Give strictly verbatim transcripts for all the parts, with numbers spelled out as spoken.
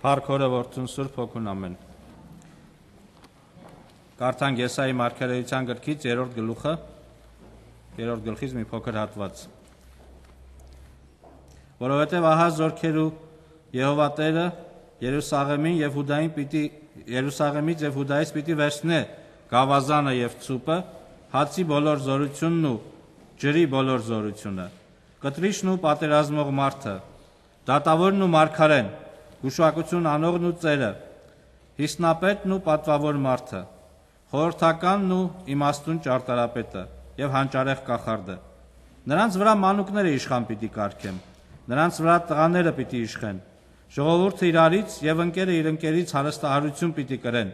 Փառք Հորը, Որդուն, Սուրբ Հոգուն, ամեն։ Կարդանք Եսայի մարգարեության գրքից երրորդ գլուխը, երրորդ գլխից մի փոքր հատված։ Որովհետև ահա զորքերու Եհովա Տերը Երուսաղեմին եւ Հուդային պիտի Երուսաղեմից եւ Հուդայից պիտի վերցնե գավազանը եւ ցուպը, հացի բոլոր զորությունն ու ջրի բոլոր զորությունը, կտրիչն ու պատերազմող մարդը, դատավորն ու մարգարեն, գուշակություն անողն ու ծերը, հիսնապետն ու պատվավոր մարդը, խորհրդականն ու իմաստուն ճարտարապետը եւ հանճարեղ կախարդը։ Նրանց վրա մանուկները իշխան պիտի կարգեմ, նրանց վրա տղաները պիտի իշխեն, ժողովուրդը իրարից եւ ընկերը իր ընկերից հարստահարություն պիտի կրեն,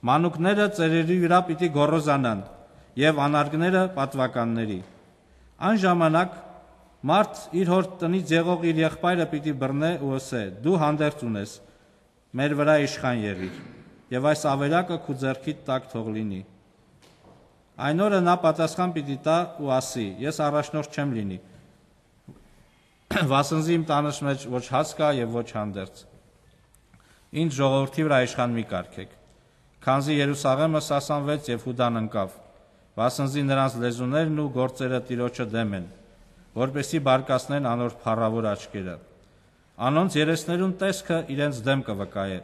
մանուկները ծերերի վրա պիտի գոռոզանան եւ անարգները պատվականների։ Այն ժամանակ մարդ իր հոր տնից եղող իր եղբայրը պիտի բռնե ու ասե. դու հանդերձ ունես, մեր վրա իշխան եղիր, եւ այս ավերակը քու ձեռքիդ տակ թող լինի։ Այն օրը նա պատասխան պիտի տա ու ասի. ես առաջնորդ չեմ լինի, վասնզի իմ տանս մեջ ոչ հաց կա եւ ոչ հանդերձ։ Ինչ ժողովրդի վրա իշխան մի կարգեք, քանզի Երուսաղեմը սասանվեց եւ Հուդան ընկավ, վասնզի նրանց լեզուներն ու գործերը Տիրոջը դեմ են, որպեսի բարկացնեն անոր փառավոր աչքերը։ Անոնց երեսներուն տեսքը իրենց դեմ կվկայե,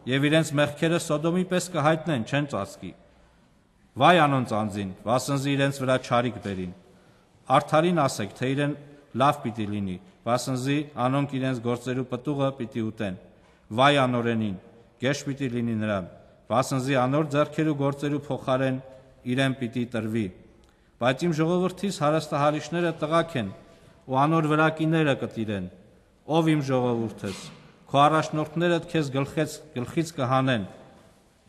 եւ իրենց մեղքերը Սոդոմի պես կհայտնեն, չեն ծածկի։ Վայ անոնց անձին, վասնզի իրենց վրա չարիք բերին։ Արդարին ասեք, թե իրեն լավ պիտի լինի, վասնզի անոնք իրենց գործերու պտուղը պիտի ուտեն։ Վայ անորենին, գեշ պիտի լինի նրան, վասնզի անոր ձեռքերու գործերու փոխարեն իրեն պիտի տրվի։ Բայց իմ ժողովրդից հարստահարիչները տղաք են, ու անոր վրա կիները կտիրեն։ Ով իմ ժողովուրդս, քո առաջնորդներդ քեզ գլխից գլխից կհանեն,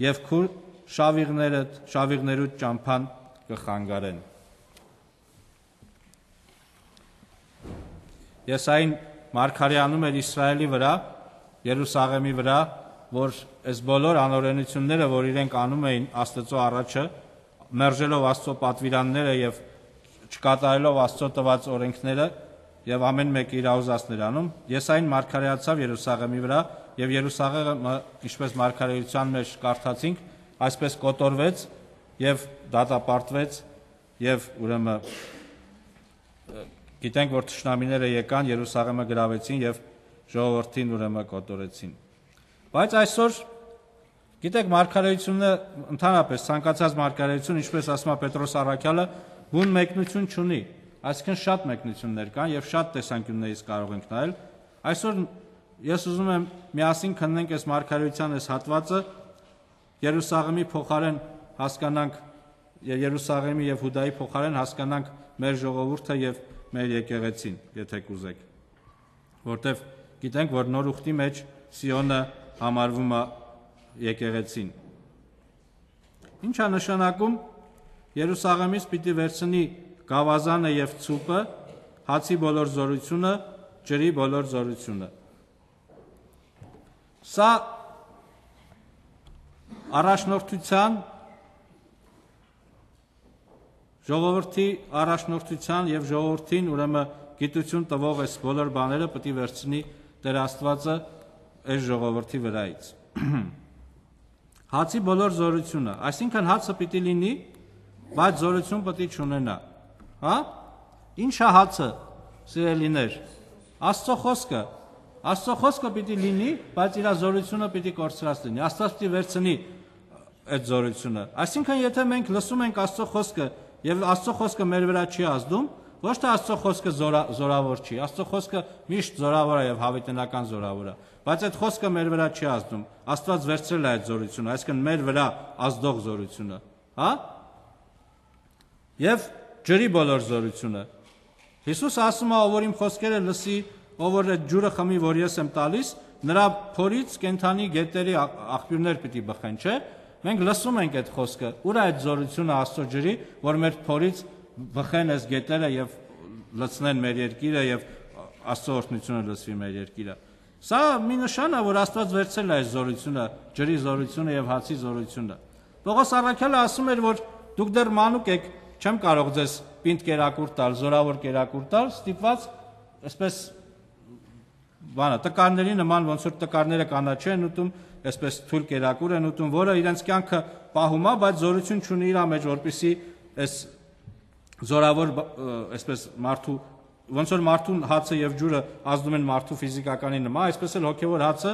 եւ քու շավիղներդ շավիղներուդ ճամփան կխանգարեն։ Եսային մարգարեանում էր Իսրայելի վրա, Երուսաղեմի վրա, որ այս բոլոր անօրենությունները, որ իրենք անում էին Աստծո առաջը, մերժելով Աստծո պատվիրանները եւ չկատարելով Աստծո տված օրենքները եւ ամեն մեկը իր ուզածներ անում, Եսային մարգարեացավ Երուսաղեմի վրա եւ Երուսաղեմը, ինչպես մարգարեության մեջ կարդացինք, այսպես կոտորվեց եւ դատապարտվեց եւ ուրեմն գիտենք, որ թշնամիները եկան, Երուսաղեմը գրավեցին եւ ժողովրդին ուրեմն կոտորեցին։ Բայց այսօր գիտեք, մարգարեությունը ընդհանրապես ցանկացած մարգարեություն, ինչպես ասում է Պետրոս Առաքյալը, բուն մեկնություն չունի, այսինքն շատ մեկնություններ կան եւ շատ տեսանկյուններից կարող ենք նայել։ Այսօր ես ուզում եմ միասին քննենք այս մարգարեության այս հատվածը, Երուսաղեմի փոխարեն հասկանանք Երուսաղեմի եւ Հուդայի փոխարեն հասկանանք մեր ժողովուրդը եւ մեր եկեղեցին, եթե կուզեք, որտեվ գիտենք, որ նոր ուխտի մեջ Սիոնը համարվում է եկեղեցին։ Ինչ է նշանակում Երուսաղեմից պիտի վերցնի գավազանը եւ ցուպը, հացի բոլոր զորությունը, ջրի բոլոր զորությունը։ Սա առաջնորդության ժողովրդի առաջնորդության եւ ժողովրդին ուրեմն գիտություն տվող այս բոլոր բաները պետք է վերցնի Տեր Աստվածը այս ժողովրդի վրայից։ Հացի բոլոր զորությունը, այսինքն հացը պիտի լինի, բայց զորություն պետք է չունենա։ Հա? Ինչ է հացը, սիրելիներ։ Աստծո խոսքը, Աստծո խոսքը պիտի լինի, բայց իր զորությունը պիտի կորցրած լինի։ Աստված պիտի վերցնի այդ զորությունը։ Այսինքն եթե մենք լսում ենք Աստծո խոսքը եւ Աստծո խոսքը մեր վրա չի ազդում, ոչ թե Աստծո խոսքը զորավոր չի, Աստծո խոսքը միշտ զորավոր է եւ հավիտենական զորավոր է, բայց այդ խոսքը մեր վրա չի ազդում։ Աստված վերցրել է այդ զորությունը, այսինքն մեր վրա ազդող զորությունը, հա? Եվ ջրի բոլոր զորությունը։ Հիսուսը ասում է, ով որ իմ խոսքերը լսի, ով որ այդ ջուրը խմի, որ ես եմ տալիս, նրա փորից կենթանի գետերի աղբյուրներ պիտի բխեն, չէ՞։ Մենք լսում ենք այդ խոսքը, ուր է այդ զորությունը Աստծո ջրի, որ մեր փորից բխեն այս գետերը եւ լցնեն մեր երկիրը եւ Աստծո օրհնությունը լսվի մեր երկիրը։ Սա մի նշան է, որ Աստված վերցրել է այս զորությունը, ջրի զորությունը եւ հացի զորությունը։ Պողոս Առաքյալը ասում էր, որ դուք դեռ մանուկ եք, չեմ կարող ձեզ պինդ կերակուր տալ, զորավոր կերակուր տալ, ստիպված այսպես բանը տկարների նման ոնց որ տկարները կանաչ են ուտում, այսպես թույլ կերակուր են ուտում, որը իրենց կյանքը պահում է, բայց զորություն չունի իր մեջ, որպեսզի այս զորավոր այսպես մարդու ոնց որ մարդու հացը եւ ջուրը ազդում են մարդու ֆիզիկականի նման, այսպես էլ հոգեվոր հացը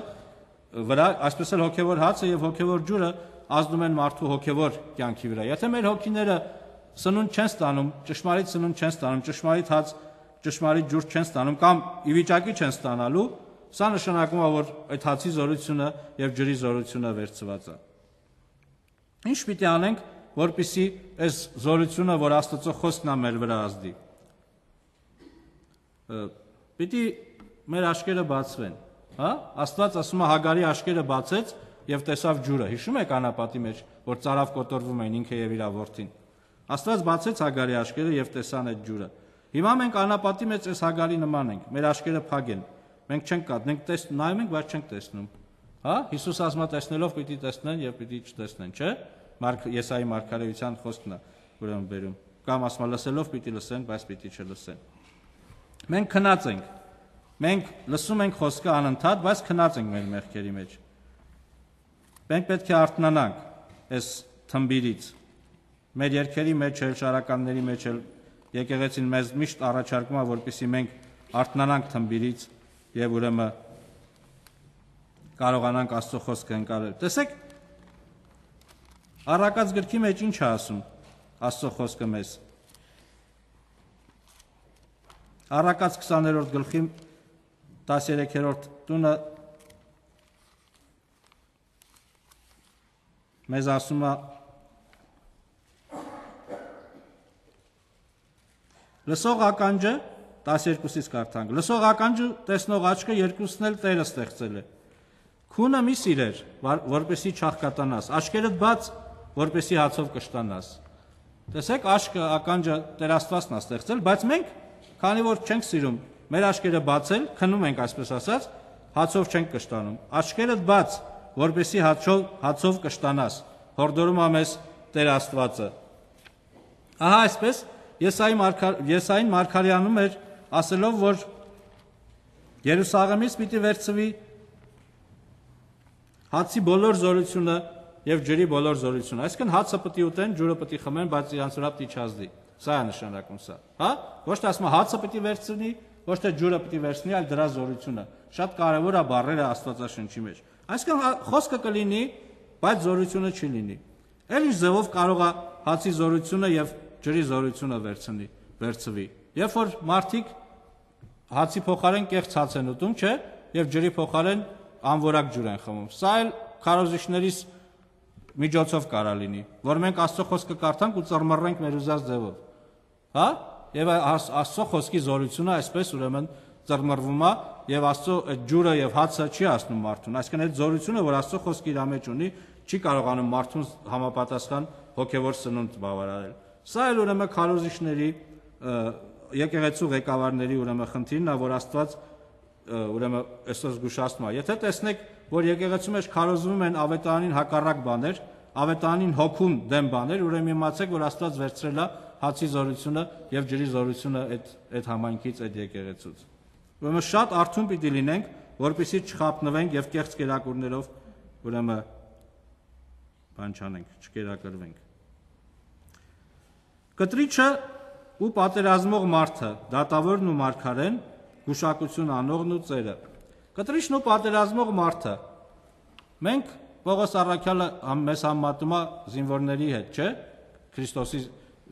վրա, այսպես էլ հոգեվոր հացը եւ հոգեվոր ջուրը ազդում են մարդու հոգեվոր կյանքի վրա։ Եթե մեր հոգիները սնունդ չեն ստանում, ճշմարիտ սնունդ չեն ստանում, ճշմարիտ հաց, ճշմարիտ ջուր չեն ստանում կամ ի վիճակի չեն ստանալու, սա նշանակում է, որ այդ հացի զորությունը եւ ջրի զորությունը վերցված է։ Ինչ պիտի անենք, որպեսզի այս զորությունը, որ Աստծո խոսքն է մեր վրա ազդի։ Պիտի մեր աչքերը բացվեն, հա? Աստված ասում է Հագարի աչքերը բացեց եւ տեսավ ջուրը։ Հիշում եք անապատի մեջ, որ ծարավ կոտորվում էին ինքը եւ իր որդին։ Աստված բացեց Հագարի աչքերը եւ տեսան այդ ջուրը։ Հիմա մենք անապատի մեջ այս Հագարի նման ենք, մեր աչքերը փակ են։ Մենք չենք կատնենք, տես նայում ենք, բայց չենք տեսնում։ Հա? Հիսուս ասում է տեսնելով պիտի տեսնեն եւ պիտի չտեսնեն, չէ՞։ Մարկ Եսայի մարգարեության խոսքն է, ուրեմն բերում։ Կամ ասում է լսելով պիտի լսեն, բայց պիտի չլսեն։ Մենք քնած ենք։ Մենք լսում ենք խոսքը անընդհատ, բայց քնած ենք մեր մեղքերի մեջ։ Մենք պետք է արթնանանք այս թմբիրից։ Մեր երկերի մեջ էլ, շարականների մեջ էլ եկեղեցին մեզ միշտ առաջարկում է, որպեսզի մենք արթնանանք թմբիրից եւ ուրեմն կարողանանք Աստծո խոսքը ընկալել։ Տեսեք, Առակաց գրքի մեջ ինչ է ասում Աստծո խոսքը մեզ։ Առակաց քսաներորդ գլխի տասներեքերորդ տունը մեզ ասում է լսող ականջը տասներկուսից կարդանք։ Լսող ականջը տեսնող աչքը երկուսն էլ Տերը ստեղծել է։ Քունը մի սիրեր, որպեսի չաղքատանաս, աչքերդ բաց, որպեսի հացով կշտանաս։ Տեսեք, աչքը ականջը Տեր Աստվածն է ստեղծել, բայց մենք, քանի որ չենք սիրում մեր աչքերը բացել, քնում ենք այսպես ասած, հացով չենք կշտանում։ Աչքերդ բաց, որպեսի հացով հացով կշտանաս։ Հորդորում է մեզ Տեր Աստվածը։ Ահա այսպես Եսային մարգարեանում էր ասելով, որ Երուսաղեմից պիտի վերցվի հացի բոլոր զորությունը եւ ջրի բոլոր զորությունը։ Այսինքն հացը պիտի ուտեն, ջուրը պիտի խմեն, բայց իրանց վրա պիտի չազդի։ Սա է նշանակում սա, հա? Ոչ թե ասում հացը պիտի վերցնի, ոչ թե ջուրը պիտի վերցնի, այլ դրա զորությունը։ Շատ կարևոր է բառերը Աստվածաշնչի մեջ։ Այսինքն խոսքը կլինի, բայց զորությունը չի լինի։ Էլ ինչ ձևով կարող է հացի զորությունը եւ ջրի զորությունը վերցնի, վերցվի։ Երբ որ մարդիկ հացի փոխարեն կեղծ հաց են ուտում, չէ՞, եւ ջրի փոխարեն անորակ ջուր են խմում։ Սա էլ քարոզիչներից միջոցով կարա լինի, որ մենք Աստծո խոսքը կարդանք ու ծռմռենք մեր ուզած ձևով։ Հա? Եվ Աստծո խոսքի զորությունը այսպես ուրեմն ծռմռվում է եւ Աստծո այդ ջուրը եւ հացը չի ասնում մարդուն։ Այսինքն այդ զորությունը, որ Աստծո խոսքը իր մեջ ունի, չի կարողանում մարդուն համապատասխան հոգեվոր սնունդ բավարարել։ Սա էլ ուրեմն քարոզիչների եկեղեցու ղեկավարների ուրեմն խնդիրն է, որ Աստված ուրեմն այսպես զգուշացնում է։ Եթե տեսնեք, որ եկեղեցու մեջ քարոզվում են ավետարանին հակառակ բաներ, ավետարանին հոգուն դեմ բաներ, ուրեմն իմացեք, որ Աստված վերցրել է հացի զորությունը եւ ջրի զորությունը այդ այդ համայնքից, այդ եկեղեցուց։ Ուրեմն շատ արթուն պիտի լինենք, որպեսզի չխափնվենք եւ կեղծ կերակուրներով ուրեմն բան չանենք, չկերակրվենք։ Կտրիչը ու պատերազմող մարդը, դատավորն ու մարգարեն, գուշակություն անողն ու ծերը։ Կտրիչն ու պատերազմող մարդը։ Մենք Պողոս առաքյալը մեզ համատում է զինվորների հետ, չէ՞, Քրիստոսի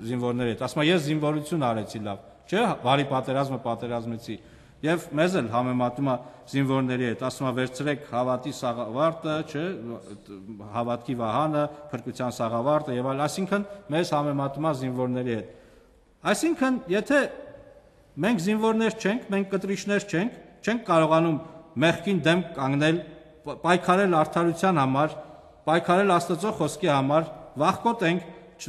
զինվորների հետ։ Ասում է ես զինվորություն արեցի լավ, չէ՞, բարի պատերազմը պատերազմեցի։ Եվ մեզ էլ համեմատում է զինվորների հետ, ասում է վերցրեք հավատի սաղավարտը, չէ, հավատքի վահանը, փրկության սաղավարտը եւ այլ, այսինքն մեզ համեմատում է զինվորների հետ։ Այսինքն, եթե մենք զինվորներ չենք, մենք կտրիչներ չենք, չենք կարողանում մեղքին դեմ կանգնել, պայքարել արդարության համար, պայքարել Աստծո խոսքի համար, վախկոտ ենք,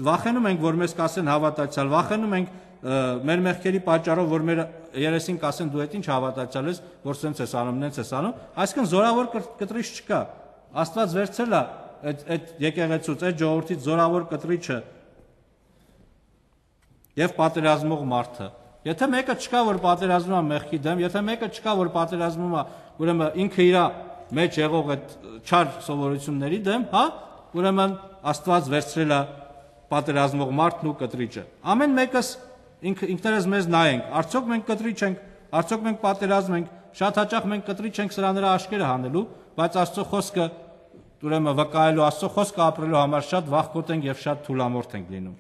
վախենում ենք, որ մեզ կասեն հավատացյալ, վախենում ենք մեր մեղքերի պատճառով, որ մեր երեսին կասեն դու այդ ինչ հավատացյալ ես, որ սենց ես անում, նենց ես անում, այսինքն զորավոր կտրիչ չկա։ Աստված վերցրել է այդ այդ եկեղեցուց, այդ ժողովրդից զորավոր կտրիչը եւ պատերազմող մարդը, Եթե մեկը չկա, որ պատերազմում է մեղքի դեմ, եթե մեկը չկա, որ պատերազմում է, ուրեմն ինքը իր մեջ եղող այդ չար սովորությունների դեմ, հա, ուրեմն Աստված վերցրել է պատերազմող մարդն ու կտրիչը։ Ամեն մեկս ինքներս մեզ նայենք, արդյոք մենք կտրիչ ենք, արդյոք մենք պատերազմ ենք, շատ հաճախ մենք կտրիչ ենք սրա նրա աշկերը հանելու, բայց Աստծո խոսքը ուրեմն վկայելու, Աստծո խոսքը ապրելու համար շատ վախկոտ ենք եւ շատ թուլամորթ ենք լինում։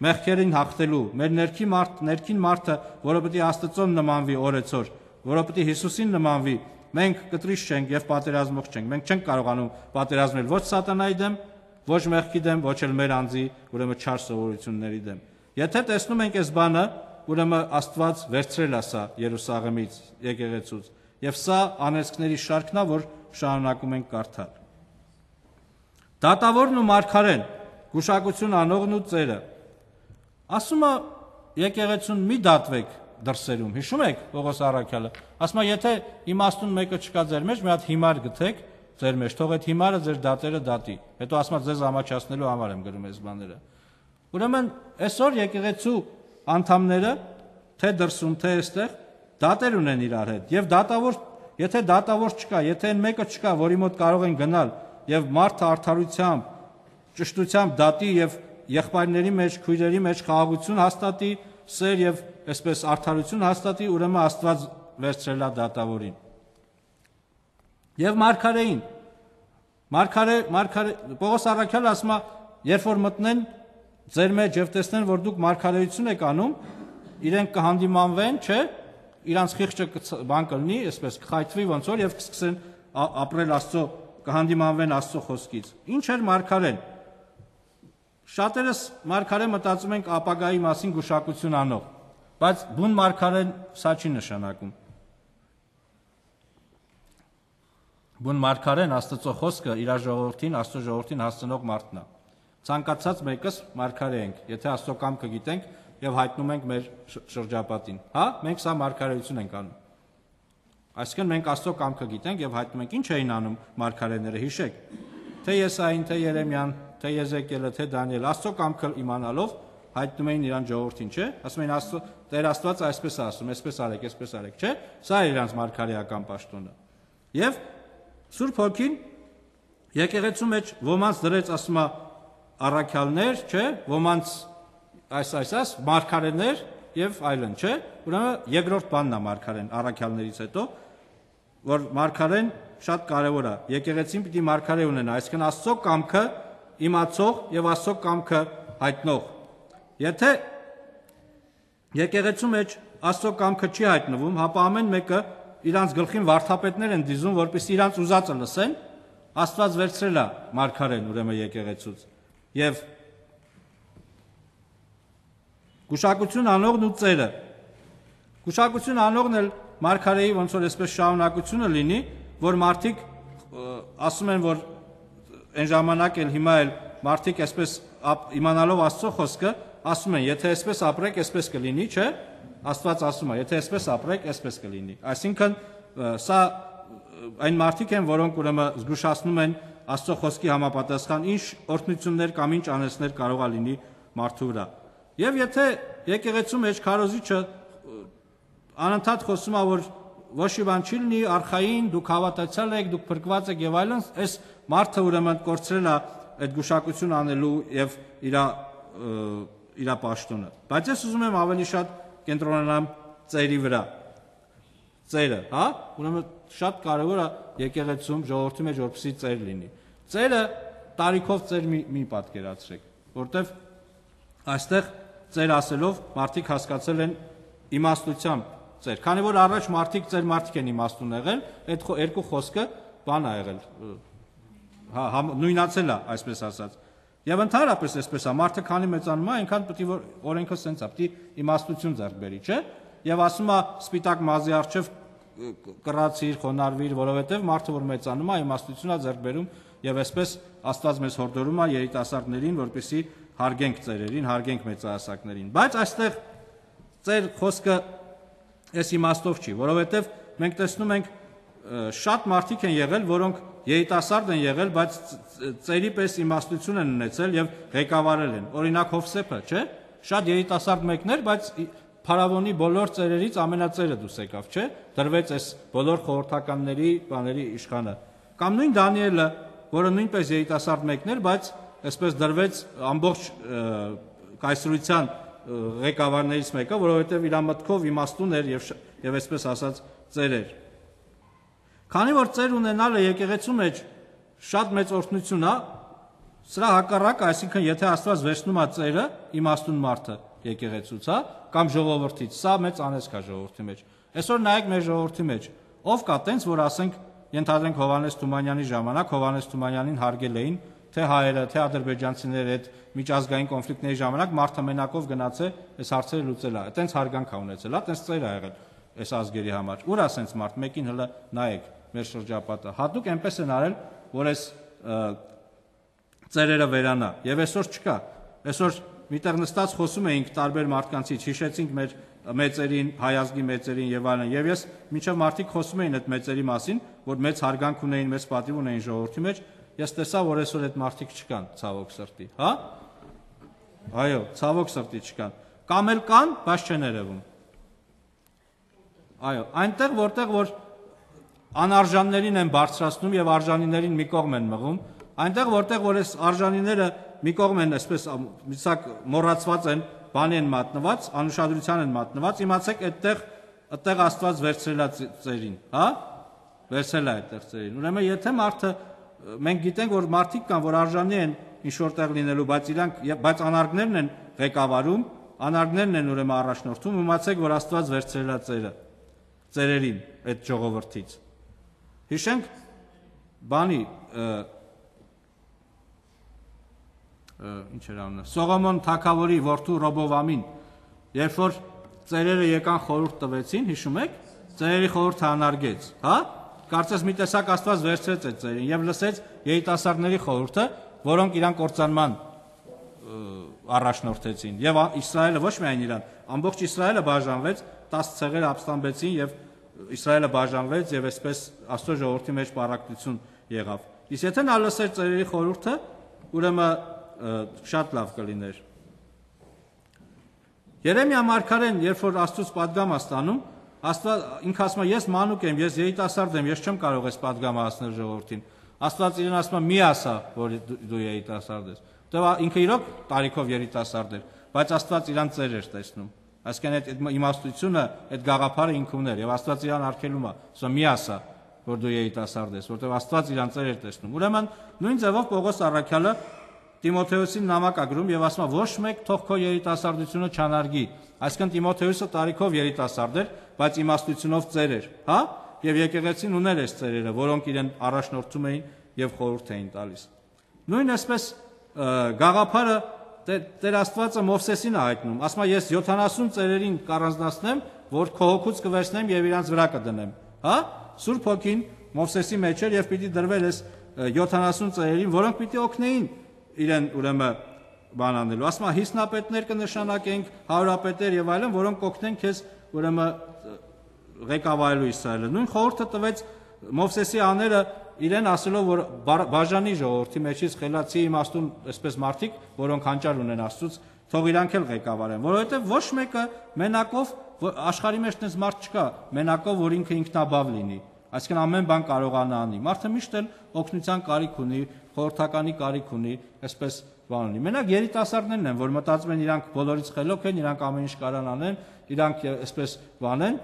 Մեղքերին հաղթելու, մեր ներքին մարդ, ներքին մարդը, որը պետք է Աստծուն նմանվի օրեցօր, որը պետք է Հիսուսին նմանվի, մենք կտրիչ չենք եւ պատերազմող չենք։ Մենք չենք կարողանում պատերազմել ոչ սատանայի դեմ, ոչ մեղքի դեմ, ոչ էլ մեր անձի, ուրեմն չար սովորությունների դեմ։ Եթե տեսնում ենք այս բանը, ուրեմն Աստված վերցրել է սա Երուսաղեմից, եկեղեցուց, եւ սա անեծքների շարքն է, որ շարունակում ենք կարդալ։ Դատավորն ու մարգարեն, գուշակություն անողն ու ծերը։ Ասում է եկեղեցուն մի դատվեք դրսերում, հիշում եք Պողոս առաքյալը, ասում է եթե իմաստուն մեկը չկա ձեր մեջ, մի հատ հիմար գտեք ձեր մեջ, թող այդ հիմարը ձեր դատերը դատի, հետո ասում է ձեզ ամաչացնելու համար եմ գրում այս բաները։ Ուրեմն այսօր եկեղեցու անդամները, թե դրսում, թե այստեղ դատեր ունեն իրար հետ, եւ դատավոր, եթե դատավոր չկա, եթե այն մեկը չկա, որի մոտ կարող են գնալ եւ մարդը արդարությամբ, ճշտությամբ դատի եւ եղբայրների մեջ, քույրերի մեջ խաղաղություն հաստատի, սեր եւ այսպես արդարություն հաստատի, ուրեմն Աստված վերցրել է դատավորին։ Եվ մարգարեին, մարգարե, մարգարե, Պողոս առաքյալը ասում է, երբ որ մտնեն ձեր մեջ եւ տեսնեն, որ դուք մարգարեություն եք անում, իրենք կհանդիմանվեն, չէ, իրանց խիղճը բան կլինի, այսպես կխայթվի ոնց որ եւ կսկսեն ապրել Աստծո, կհանդիմանվեն Աստծո խոսքից։ Ինչ էր մարգարեն։ Շատերս մարգարե մտածում ենք ապագայի մասին գուշակություն անող, բայց բուն մարգարեն սա չի նշանակում։ Բուն մարգարեն Աստծո խոսքը իր ժողովրդին, Աստծո ժողովրդին հասցնող մարդն է։ Ցանկացած մեկս մարգարե ենք, եթե Աստծո կամքը գիտենք եւ հայտնում ենք մեր շրջապատին։ Հա, մենք սա մարգարեություն ենք անում։ Այսինքն մենք Աստծո կամքը գիտենք եւ հայտնում ենք ինչ էին անում մարգարեները, հիշեք։ Թե Եսային, թե Երեմիան, թե Եզեկիելը, թե Դանիելը, Աստծո կամքը իմանալով հայտնում էին իրան ժողովրդին, չէ՞։ Ասում էին Աստծո Տեր Աստված այսպես է ասում, այսպես արեք, այսպես արեք, չէ՞։ Սա է իրանց մարգարեական պաշտոնը։ Եվ Սուրբ Հոգին եկեղեցու մեջ ոմանց դրեց, ասում է, առաքյալներ, չէ՞, ոմանց այս այս այս մարգարեներ եւ այլն, չէ՞։ Ուրեմն երկրորդ բանն է մարգարեն առաքյալներից հետո, որ մարգարեն շատ կարևոր է։ Եկեղեցին պիտի մարգարե ունենա, այսինքն Աստծո կամքը իմացող եւ Աստծո կամքը հայտնող։ Եթե եկեղեցու մեջ Աստծո կամքը չի հայտնվում, հապա ամեն մեկը իրանց գլխին վարդապետներ են դիզում, որպեսզի իրանց ուզածը լսեն, Աստված վերցրել է մարգարեն ուրեմն եկեղեցուց։ Եվ գուշակություն անողն ու ծերը։ Գուշակություն անողն էլ մարգարեի ոնց որ այսպես շարունակությունը լինի, որ մարդիկ ասում են, որ այն ժամանակ էլ հիմա էլ մարդիկ այսպես իմանալով Աստծո խոսքը, ասում են, եթե այսպես ապրեք, այսպես կլինի, չէ՞։ Աստված ասում է, եթե այսպես ապրեք, այսպես կլինի։ Այսինքն սա այն մարդիկ են, որոնք ուրեմն զգուշացնում են Աստծո խոսքի համապատասխան ինչ օրհնություններ կամ ինչ անեցներ կարող է լինի մարդու վրա։ Եվ եթե եկեղեցու մեջ քարոզիչը անընդհատ խոսում է, որ ոչ մի բան չի լինի, արխային, դուք հավատացյալ եք, դուք փրկված եք եւ այլն, այս մարդը ուրեմն կորցրել է այդ գուշակություն անելու եւ իր իր պաշտոնը։ Բայց ես ուզում եմ ավելի շատ կենտրոնանամ ծերի վրա։ Ծերը, հա, ուրեմն շատ կարևոր է եկեղեցում ժողովրդի մեջ որպեսզի ծեր լինի։ Ծերը տարիքով ծեր մի, մի պատկերացրեք, որտեվ այստեղ ծեր ասելով մարդիկ հասկացել են իմաստությամբ ծեր։ Քանի որ առաջ մարդիկ ծեր մարդիկ են իմաստուն եղել, այդ երկու խոսքը բան է եղել, հա, նույնացել է, այսպես ասած։ Եվ ընդհանրապես այսպես է, մարդը քանի մեծանում է, այնքան պետք է որ օրենքը սենց է, պետք է իմաստություն ձեռք բերի, չէ՞։ Եվ ասում է սպիտակ մազի առջև կռացիր, խոնարհվիր, որովհետև մարդը որ մեծանում է, իմաստություն է ձեռք բերում, եւ այսպես Աստված մեզ հորդորում է երիտասարդներին, որպեսզի հարգենք ծերերին, հարգենք մեծահասակներին։ Բայց այստեղ ծեր խոսքը այս իմաստով չի, որովհետև մենք տեսնում ենք շատ մարդիկ են եղել, որոնք երիտասարդ են եղել, բայց ծերի պես իմաստություն են ունեցել եւ ղեկավարել են։ Օրինակ Հովսեփը, չէ՞։ Շատ երիտասարդ մեկներ, բայց փարավոնի բոլոր ծերերից ամենածերը դուս եկավ, չէ՞, դրվեց այս բոլոր խորհրդականների բաների իշխանը։ Կամ նույն Դանիելը, որը նույնպես երիտասարդ մեկն էր, բայց այսպես դրվեց ամբողջ կայսրության ղեկավարներից մեկը, որովհետև իր մտքով իմաստուն էր եւ եւ այսպես ասած ծեր էր։ Քանի որ ծեր ունենալը եկեղեցու մեջ շատ մեծ օրհնություն է, սրա հակառակը, այսինքն եթե Աստված վերցնում է ծերը, իմաստուն մարդը եկեղեցուց, հա, կամ ժողովրդից, սա մեծ անեծք է ժողովրդի մեջ։ Այսօր նայեք մեր ժողովրդի մեջ, ով կա տենց, որ ասենք ենթադրենք Հովհաննես Թումանյանի ժամանակ Հովհաննես Թումանյանին հարգել էին թե հայերը, թե ադրբեջանցիները այդ միջազգային կոնֆլիկտների ժամանակ մարդը մենակով գնաց է այս հարցերը լուծել է, այտենց հարգանք ա ունեցել, այտենց ծեր ա եղել այս ազգերի համար։ Ուր ասենց մարդ, մեկին հələ նայեք մեր շրջապատը։ Հատուկ այնպես են արել, որ այս ծերերը վերանա, եւ այսօր չկա։ Այսօր միտեղ նստած խոսում էինք տարբեր մարդկանցից, հիշեցինք մեր մեծերին, հայ ազգի մեծերին եւ այլն, եւ ես մինչեւ մարդիկ խոսում էին այդ մեծերի մասին, որ մեծ հարգանք ունեին, մեծ պատիվ ունեին ժողովրդի մեջ, ես տեսա, որ այսօր այդ մարդիկ չկան, ցավոք սրտի, հա? Այո, ցավոք սրտի չկան։ Կամ էլ կան, բայց չեն երևում։ Այո, այնտեղ որտեղ որ անարժաններին են բարձրացնում եւ արժանիներին մի կողմ են մղում, այնտեղ որտեղ որ այս արժանիները մի կողմ են, այսպես միսակ մոռացված են, բանի են մատնված, անուշադրության են մատնված, իմացեք այդտեղ այդտեղ Աստված վերցրել է ծերին, հա? Վերցրել է այդտեղ ծերին։ Ուրեմն եթե մարդը մենք գիտենք, որ մարդիկ կան, որ արժանի են ինչ որտեղ լինելու, բայց իրանք բայց անարգներն են ղեկավարում, անարգներն են ուրեմն առաջնորդում, իմացեք, որ Աստված վերցրել է ծերը, ծերերին այդ ժողովրդից։ Հիշենք բանի ինչ էր անունը, Սողոմոն թագավորի որդու Ռոբովամին, երբ որ ծերերը եկան խորհուրդ տվեցին, հիշում եք, ծերերի խորհուրդը անարգեց, հա? Կարծես մի տեսակ Աստված վերցրեց այդ ծերին եւ լսեց երիտասարդների խորհուրդը, որոնք իրան կործանման առաջնորդեցին։ Եվ Իսրայելը ոչ միայն իրան, ամբողջ Իսրայելը բաժանվեց, տասը ցեղեր ապստամբեցին եւ Իսրայելը բաժանվեց եւ այսպես Աստծո ժողովրդի մեջ պարակտություն եղավ։ Իսկ եթե նա լսեր ծերերի խորհուրդը, ուրեմն շատ լավ կլիներ։ Երեմիա մարգարեն, երբ որ Աստծուց պատգամ է ստանում, Աստված ինքը ասում է, ես մանուկ եմ, ես երիտասարդ եմ, ես չեմ կարող այս պատգամը հասնել ժողովրդին։ Աստված իրեն ասում է, մի ասա, որ դու երիտասարդ ես։ Դե ինքը իրոք տարիքով երիտասարդ էր, բայց Աստված իրան ծեր էր տեսնում։ Այսինքն այդ իմաստությունը, այդ գաղափարը ինքը ուներ եւ Աստված իրան արգելում է, ասում մի ասա, որ դու երիտասարդ ես, որտեղ Աստված իրան ծեր էր տեսնում։ Ուրեմն նույն ձևով Պողոս առաքյալը Տիմոթեոսին նամակ է գրում եւ ասում է, ոչ մեկ թող քո երիտասարդությունը չանարգի։ Այսինքն Տիմոթեոսը տարիքով երիտասարդ էր, բայց իմաստությունով ծեր էր, հա? Եվ եկեղեցին ուներ այս ծերերը, որոնք իրեն առաջնորդում էին եւ խորհուրդ էին տալիս։ Նույն այսպես գաղափարը Տեր Աստվածը Մովսեսին է հայտնում, ասում է, ես յոթանասուն ծերերին կառանձնացնեմ, որ քո հոգուց կվերցնեմ եւ իրանց վրա կդնեմ, հա? Սուրբ Հոգին Մովսեսի մեջ էր եւ պիտի դրվել այս յոթանասուն ծերերին, որոնք պիտի օգնեին իրեն ուրեմն բան անելու։ Ասում է, հիսնապետներ կնշանակենք, հարուրապետեր եւ այլն, որոնք կօգնեն քեզ ուրեմն ղեկավարելու Իսրայելը։ Նույն խորհուրդը տվեց Մովսեսի աները իրեն ասելով, որ բաժանի ժողովրդի մեջից խելացի իմաստուն այսպես մարդիկ, որոնք հանճար ունեն Աստծուց, թող իրանք էլ ղեկավարեն, որովհետև ոչ մեկը մենակով աշխարհի մեջ տես մարդ չկա, մենակով որ ինքը ինքնաբավ լինի, այսինքն ամեն բան կարողանա անի։ Մարդը միշտ էլ օգնության կարիք ունի, խորհրդականի կարիք ունի, այսպես բան ունի։ Մենակ երիտասարդներն են, որ մտածում են իրանք բոլորից խելոք են, իրանք ամեն ինչ կարան անեն, իրանք այսպես բանեն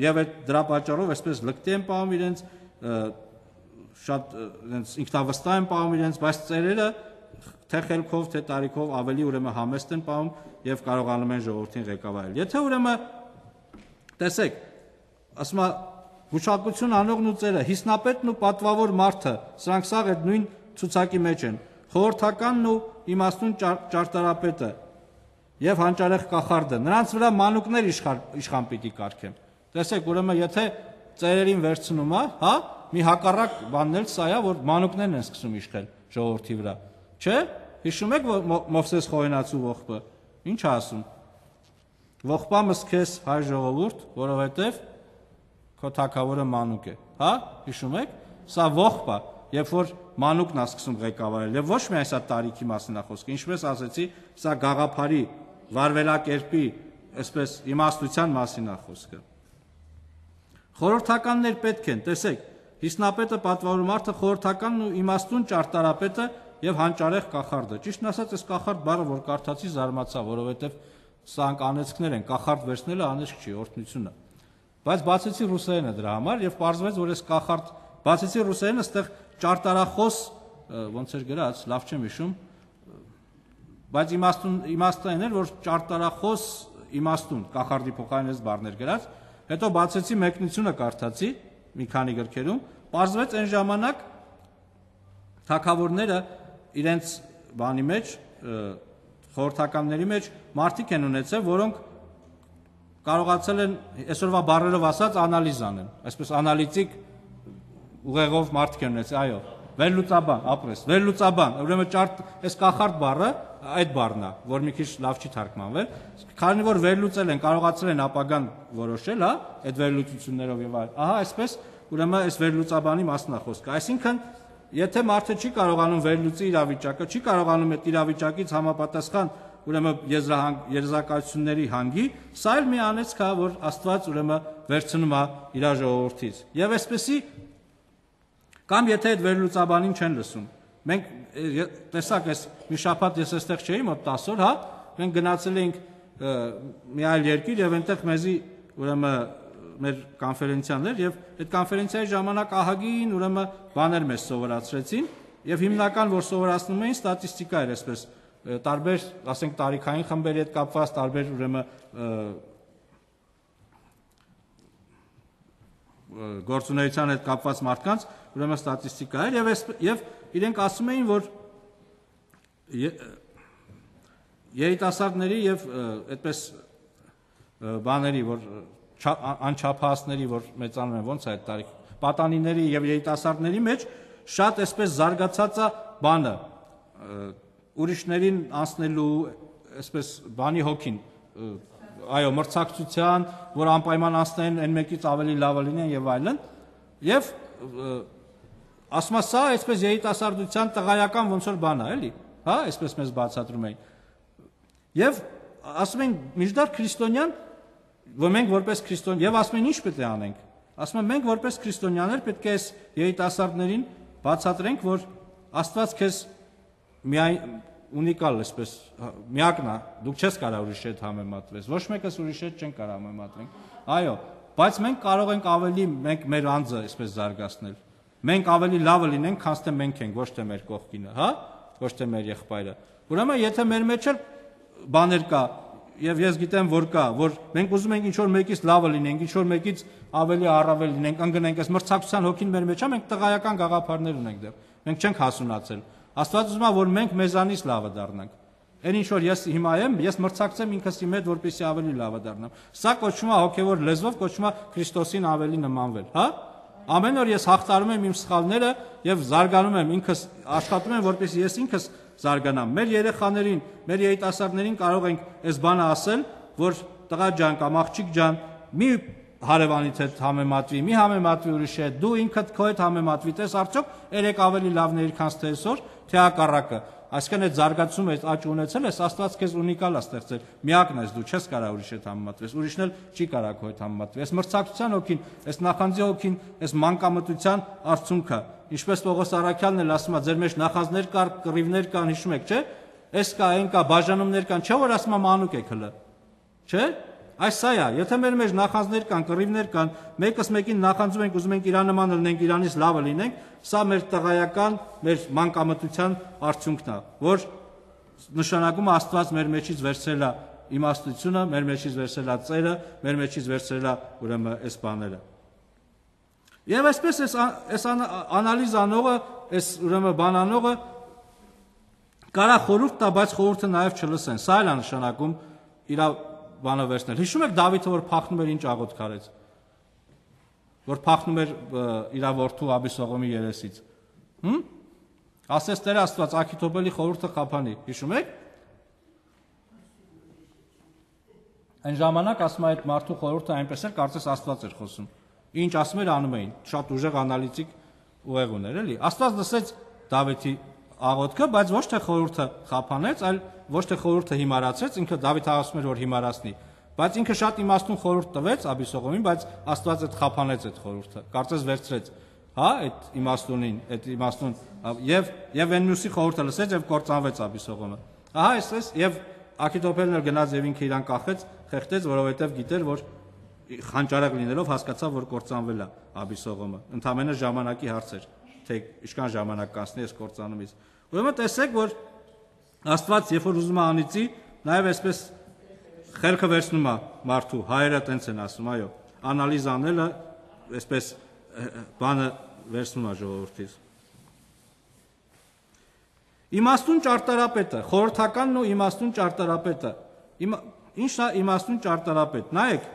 եւ այդ դրա պատճառով այսպես լկտի են պահում իրենց, շատ այնց ինքնավստահ են պահում իրենց, բայց ծերերը թե խելքով, թե տարիքով ավելի ուրեմն համեստ են պահում եւ կարողանում են ժողովրդին ղեկավարել։ Եթե ուրեմն տեսեք, ասում է գուշակություն անողն ու ծերը, հիսնապետն ու պատվավոր մարդը, սրանք սաղ այդ նույն ցուցակի մեջ են, խորհրդականն ու իմաստուն ճարտարապետը եւ հանճարեղ կախարդը, նրանց վրա մանուկներ իշխան պիտի կարգեն։ Տեսեք, ուրեմն եթե ծերերին վերցնում է, հա, մի հակառակ բանն էլ սա է, որ մանուկներն են սկսում իշխել ժողովրդի վրա։ Չէ՞։ Հիշում եք Մովսես խոհենացու ողբը։ Ինչ է ասում։ Ողբամս քեզ հայ ժողովուրդ, որովհետև քո թագավորը մանուկ է, հա, հիշում եք, սա ողբ է, երբ որ մանուկն է սկսում ղեկավարել, եւ ոչ միայն սա տարիքի մասին է խոսքը, ինչպես ասեցի, սա գաղափարի, վարվելակերպի, այսպես իմաստության մասին է խոսքը։ Խորհրդականներ պետք են, տեսեք, Հիսնապետը պատվարում մարդը խորհրդականն ու իմաստուն ճարտարապետը եւ հանճարեղ կախարդը։ Ճիշտն ասած, այս կախարդ բառը, որ կարդացի, զարմացա, որովհետեւ սրանք անեծքներ են, կախարդ վերցնելը անեծք չի, օրհնությունը։ Բայց բացեցի ռուսերենը դրա համար եւ պարզվեց, որ այս կախարդ, բացեցի ռուսերենը, այստեղ ճարտարախոս, ոնց էր գրած, լավ չեմ հիշում, բայց իմաստուն իմաստը այն էր, որ ճարտարախոս իմաստուն կախարդի փոխարեն այս բառներ գրած, հետո բացեցի մեկնությունը կարդացի մի քանի գրքերում, պարզվեց այն ժամանակ թագավորները իրենց բանի մեջ, խորհրդականների մեջ մարդիկ են ունեցել, որոնք կարողացել են այսօրվա բառերով ասած անալիզ անեն, այսպես անալիտիկ ուղեղով մարդիկ են ունեցել, այո, վերլուծաբան, ապրես, վերլուծաբան, ուրեմն ճարտ, այս կախարդ բառը այդ բառն է, որ մի քիչ լավ չի թարգմանվել, քանի որ վերլուծել են, կարողացել են ապագան որոշել, հա, այդ վերլուծություններով եւ այլ, ահա այսպես, ուրեմն այս վերլուծաբանի մասն է խոսքը, այսինքն եթե մարդը չի կարողանում վերլուծի իրավիճակը, չի կարողանում այդ իրավիճակից համապատասխան ուրեմն եզրակացությունների հանգի, սա էլ մի անեծք է, որ Աստված ուրեմն վերցնում է իր ժողովրդից։ Եվ այսպեսի կամ եթե այդ վերլուծաբանին չեն լսում։ Մենք տեսակ այս մի շաբաթ ես այստեղ չէի, մոտ տասը օր, հա, մենք գնացել էինք մի այլ երկիր եւ այնտեղ մեզի ուրեմն մեր կոնֆերենցիաներ եւ այդ կոնֆերենցիայի ժամանակ ահագին ուրեմն բաներ մեզ սովորացրեցին եւ հիմնական որ սովորացնում էին ստատիստիկա էր այսպես տարբեր, ասենք տարիքային խմբերի հետ կապված տարբեր ուրեմն գործունեության հետ կապված մարդկանց ուրեմն ստատիստիկա էր եւ եւ իրենք ասում էին որ երիտասարդների եւ այդպես բաների որ անչափահասների որ մեծանում են ոնց է այդ տարիք պատանիների եւ երիտասարդների մեջ շատ այսպես զարգացած է բանը ուրիշներին անցնելու այսպես բանի հոգին այո մրցակցության որ անպայման անցնեն այն մեկից ավելի լավը լինեն եւ այլն եւ ասում է սա այսպես երիտասարդության տղայական ոնց որ բան է էլի հա այսպես մեզ բացատրում էին եւ ասում են միջդար քրիստոնյան որ մենք որպես քրիստոն եւ ասում են ինչ պետք է անենք ասում են մենք որպես քրիստոնյաներ պետք է այս երիտասարդներին բացատրենք որ Աստված քեզ միայն ունիկալ այսպես միակն է դուք չես կարող ուրիշի հետ համեմատվես ոչ մեկս ուրիշի հետ չեն կարող համեմատվենք այո բայց մենք կարող ենք ավելի մենք մեր անձը այսպես զարգացնել մենք ավելի լավը լինենք քան թե մենք ենք ոչ թե մեր կողքինը հա ոչ թե մեր եղբայրը ուրեմն եթե մեր մեջ էլ բաներ կա եւ ես գիտեմ որ կա որ մենք ուզում ենք ինչ որ մեկից լավը լինենք ինչ որ մեկից ավելի առավել լինենք ընկնենք այս մրցակցության հոգին մեր մեջ է մենք տղայական գաղափարներ ունենք դեռ մենք չենք հասունացել Աստված ուզում է որ մենք մեզանից լավը դառնանք այն ինչ որ ես հիմա եմ ես մրցակցեմ ինքս իմ հետ որպեսզի ավելի լավը դառնամ սա կոչվում է հոգեվոր լեզվով կոչվում է Քրիստոսին ավելի նմանվել հա ամեն օր ես հաղթարում եմ իմ սխալները եւ զարգանում եմ ինքս աշխատում եմ որպեսզի ես ինքս զարգանամ մեր երեխաներին մեր երիտասարդներին կարող ենք այս բանը ասել որ տղա ջան կամ աղջիկ ջան մի հարևանից հետ համեմատվի մի համեմատվի ուրիշի հետ դու ինքդ քո հետ համեմատվի տես արդյոք երեք ավելի լավն էր քան թե այսօր թե հակառակը այսինքն այդ զարգացումը այդ աճ ունեցել ես Աստված քեզ ունիկալ է ստեղծել միակն ես դու չես կարող ուրիշի հետ համեմատվես ուրիշն էլ չի կարող քո հետ համեմատվի այս մրցակցության հոգին այս նախանձի հոգին այս մանկամտության արդյունքը ինչպես Պողոս Առաքյալն էլ ասում է ձեր մեջ նախանձներ կար կռիվներ կան հիշում եք չէ այս կա այն կա բաժանումներ կան չէ որ ասում է մանուկ եք հլը չէ այս սա է եթե մեր մեջ նախանձներ կան կռիվներ կան մեկս մեկին նախանձում ենք ուզում ենք իրան նման լինենք իրանից լավը լինենք սա մեր տղայական մեր մանկամտության արդյունքն է որ նշանակում է Աստված մեր մեջից վերցրել է իմաստությունը մեր մեջից վերցրել է ծերը մեր մեջից վերցրել է ուրեմն այս բաները եւ այսպես այս այս անալիզ անողը այս ուրեմն բանանողը կարա խորհուրդ տա բայց խորհուրդը նաեւ չլսեն սա էլ է նշանակում իր բանը վերցնել հիշում եք Դավիթը որ փախնում էր ինչ աղոթք արեց որ փախնում էր իր որդու Աբիսողոմի երեսից հմ ասես Տեր Աստված Աքիթոբելի խորհուրդը խափանի հիշում եք այն ժամանակ ասում է այդ մարդու խորհուրդը այնպես էր կարծես Աստված էր խոսում ինչ ասում էր անում էին շատ ուժեղ անալիտիկ ուղեղ ուներ էլի Աստված լսեց Դավիթի աղոթքը բայց ոչ թե խորհուրդը խափանեց այլ ոչ թե խորհուրդը հիմարացրեց ինքը Դավիթ ասում էր որ հիմարացնի Բայց ինքը շատ իմաստուն խորհուրդ տվեց Աբիսողոմին, բայց Աստված այդ խափանեց այդ խորհուրդը, կարծես վերցրեց, հա, այդ իմաստունին, այդ իմաստուն եւ եւ այն մյուսի խորհուրդը լսեց եւ կործանվեց Աբիսողոմը։ Ահա այսպես եւ Աքիթոփելն էլ գնաց եւ ինքը իրան կախեց, խեղդեց, որովհետեւ գիտեր, որ խանճարակ լինելով հասկացավ, որ կործանվել է Աբիսողոմը։ Ընդամենը ժամանակի հարց էր, թե ինչքան ժամանակ կանցնի այս կործանումից։ Ուրեմն տեսեք, որ Աստված երբ որ ուզում է անիծի, նաեւ այսպես խելքը վերցնում է մարդու, հայերը տենց են ասում, այո, անալիզ անելը այսպես բանը վերցնում է ժողովրդից։ Իմաստուն ճարտարապետը, խորհրդականն ու իմաստուն ճարտարապետը։ Ի՞նչն է իմաստուն ճարտարապետ։ Նայեք,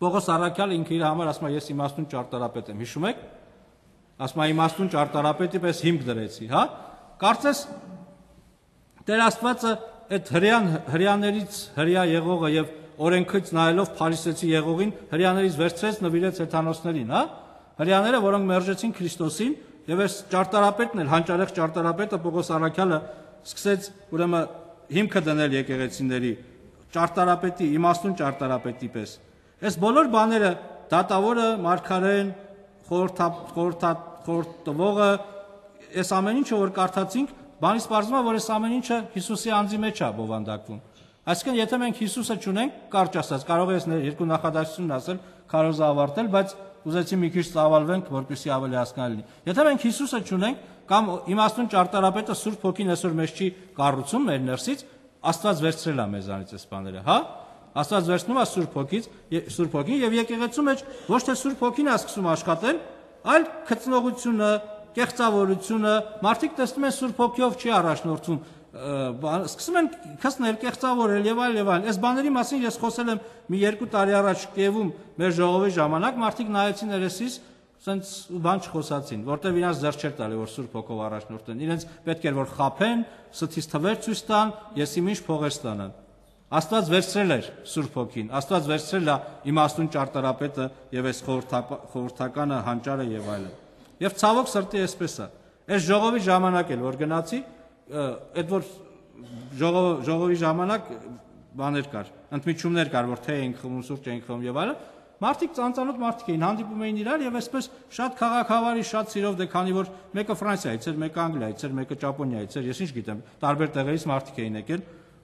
Պողոս առաքյալը ինքը իր համար ասում է, ես իմաստուն ճարտարապետ եմ, հիշում եք։ Ասում է իմաստուն ճարտարապետի պես հիմք դրեցի, հա։ Կարծես Տեր Աստվածը այդ հрьяան հрьяաներից հрья եղողը եւ օրենքից նայելով Փարիսեցի եղողին հрьяաներից վերցրեց նվիրեց հեթանոսներին, հա։ Հрьяաները, որոնք մերժեցին Քրիստոսին, եւ այս ճարտարապետն էլ, հանճարեղ ճարտարապետը Պողոս առաքյալը սկսեց ուրեմն հիմքը դնել եկեղեցիների ճարտարապետի, իմաստուն ճարտարապետի պես։ Այս բոլոր բաները դատավորը, մարգարեն, խորհրդատվողը, այս ամեն ինչը որ կարդացինք, բանից պարզվում է, որ այս ամեն ինչը Հիսուսի անձի մեջ է բովանդակվում։ Այսինքն, եթե մենք Հիսուսը չունենք, կարճ ասած, կարող է երկու նախադասությունն ասել, քարոզը ավարտել, բայց ուզեցի մի քիչ ծավալվենք, որպեսզի ավելի հասկանալի լինի։ Եթե մենք Հիսուսը չունենք, կամ իմաստուն ճարտարապետը Սուրբ Հոգին այսօր մեզ չի կառուցում մեր ներսից, Աստված վերցրել է մեզանից այս բաները, հա։ Աստված վերցնում է Սուրբ Հոգից, Սուրբ Հոգին եւ եկեղեցու մեջ ոչ թե Սուրբ Հոգին է սկսում աշխատել, այլ քծնողությունը, կեղծավորությունը, մարդիկ տեսնում են Սուրբ Հոգիով չի առաջնորդվում, սկսում են քծնել, կեղծավորել եւ այլ եւ այլ։ Այս բաների մասին ես խոսել եմ մի երկու տարի առաջ Կիևում մեր ժողովի ժամանակ, մարդիկ նայեցին երեսիս, ասենց բան չխոսացին, որտեվ իրանց ձեռ չէր տալի, որ Սուրբ Հոգով առաջնորդեն։ Իրենց պետք էր որ խափեն, սթից թվեր ցույց տան, ես իմ ինչ փողեր ստանան։ Աստված վերցրել էր Սուրբ Հոգին, Աստված վերցրել է իմաստուն ճարտարապետը եւ այս խորհրդականը, հանճարը եւ այլն։ Եվ ցավոք սրտի այսպես է։ Այս ժողովի ժամանակ էլ որ գնացի, այդ որ ժողովի ժամանակ բաներ կար, ընդմիջումներ կար, որ թե ենք խմում, սուրճ ենք խմում եւ այլն, մարդիկ ծանծանոթ մարդիկ էին, հանդիպում էին իրար եւ այսպես շատ քաղաքավարի, շատ սիրով դե քանի որ մեկը Ֆրանսիայից էր, մեկը Անգլիայից էր, մեկը Ճապոնիայից էր, ես ինչ գիտեմ, տարբեր տեղերից մարդիկ էին եկել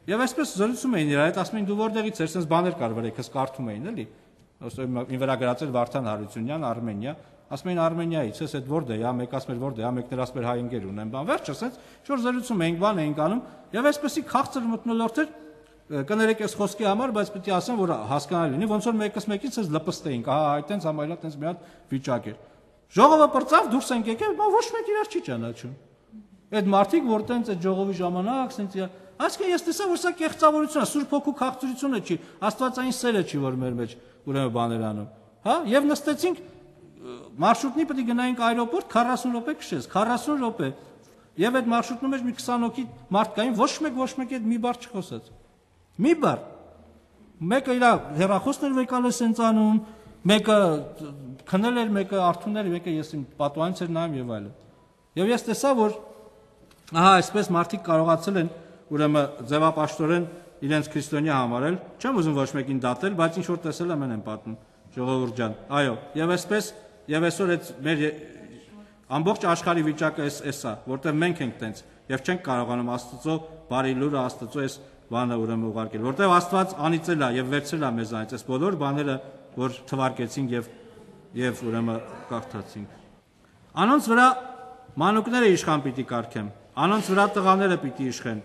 եւ այսպես զրուցում էին իրար հետ, ասում էին դու որտեղից ես, sense բաներ կար վրեքս կարդում էին, էլի։ Ին վրա գրածել Վարդան Հարությունյան, Արմենիա, ասում էին Արմենիայից, ես այդ որտե՞ղ է, մեկ ասում էր որտե՞ղ է, մեկներ ասում էր հայ ընկեր ունեն, բան վերջը, sense շուտ զրուցում էինք, բան էինք անում եւ այսպեսի քաղցր մթնոլորտ էր, կներեք այս խոսքի համար, բայց պետք է ասեմ, որ հասկանալի լինի, ոնց որ մեկս մեկին sense լպստեինք, ահա այտենց համայլա տենց մի հատ վիճակ էր։ Ժողովը պրծավ, դուրս ենք եկել, բա ոչ մեկ իրար չի ճանաչում։ Այդ մարդիկ, որ տենց այդ ժողովի ժամանակ, sense այսինքն ես տեսա, որ սա կեղծավորություն է, Սուրբ Հոգու քաղցրությունը չի, Աստվածային սերը չի, որ մեր մեջ ուրեմն բաներ անում։ Հա, եւ նստեցինք մարշրուտնի պետք է գնայինք այրոպորտ քառասուն րոպե քշես, քառասուն րոպե։ Եվ այդ մարշրուտնում մեջ մի քսան հոգի մարդ կային, ոչ մեկ ոչ մեկի հետ մի բառ չխոսեց։ Մի բառ։ Մեկը իր հեռախոսն էր վեկալես sense անում, մեկը քնել էր, մեկը արթուն էր, մեկը ես իմ պատուհանից էր նայում եւ այլն։ Եվ ես տեսա, որ ահա այսպես մարդիկ կարողացել են ուրեմն ձևապաշտորեն իրենց քրիստոնյա համարել, չեմ ուզում ոչ մեկին դատել, բայց ինչ որ տեսել եմ են պատմում, ժողովուրդ ջան։ Այո, եւ այսպես եւ այսօր այդ մեր ամբողջ աշխարհի վիճակը էս էսա, որտեղ մենք ենք տենց եւ չենք կարողանում Աստծո բարի լուրը, Աստծո այս բանը ուրեմն ուղարկել, որտեղ Աստված անիծել է եւ վերցրել է մեզանից այս բոլոր բաները, որ թվարկեցինք եւ եւ ուրեմն կարդացինք։ Անոնց վրա մանուկները իշխան պիտի կարգեմ, անոնց վրա տղաները պիտի իշխեն,